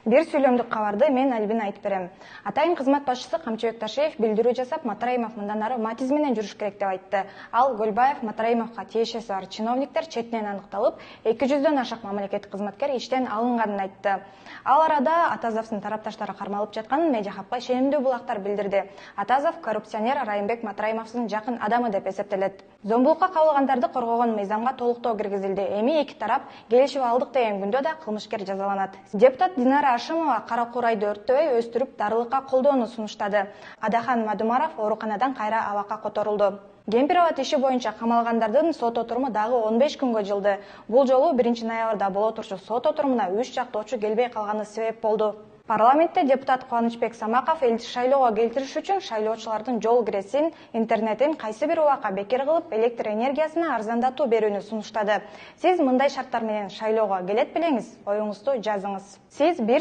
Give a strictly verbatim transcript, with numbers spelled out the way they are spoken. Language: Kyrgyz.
Бир сүйлөмдүк кабарды мен Альбина айтып берем. Атайын кызмат башчысы Камчыбек Ташиев билдирүү жасап, Матраимов мындан ары матиз менен жүрүш керек деп айтты. Ал Көлбаев, Матраимовго тиешеси бар чиновниктер четинен аныкталып, эки жүздөн ашык мамлекеттик кызматкер иштен алынганын айтты. Ал арада Атазовдун тарапташтары кармалып жатканын Медиа хабга ишенимдүү булактар билдирди. Атазов коррупционер Райымбек Матраимовдун жакын адамы деп эсептелет. Зомбулукка кабылгандарды коргогон мыйзамга толуктоо киргизилди. Эми эки тарап келишип алдык деген күндө да кылмышкер жазаланат. Депутат Динара Ашимова кара курайды өрттөбөй өстүрүп дарылыкка колдоону сунуштады. Адахан Мадумаров ооруканадан кайра абакка которулду. Кемпирова иши боюнча камалгандардын сот отуруму дагы он беш күнгө жылды. Бул жолу биринчи ноябрда боло турчу сот отурумуна үч жактоочу келбей калганы себеп болду. Парламентте депутат Кубанычбек Самаков элди шайлоого келтириш үчүн шайлоочулардын жол киресин, интернетин кайсы бир убакка бекер кылып, электр энергиясына арзандатуу берүүнү сунуштады. Сиз мындай шарттар менен шайлоого келет белеңиз? Оюңузду жазыңыз. Сиз бир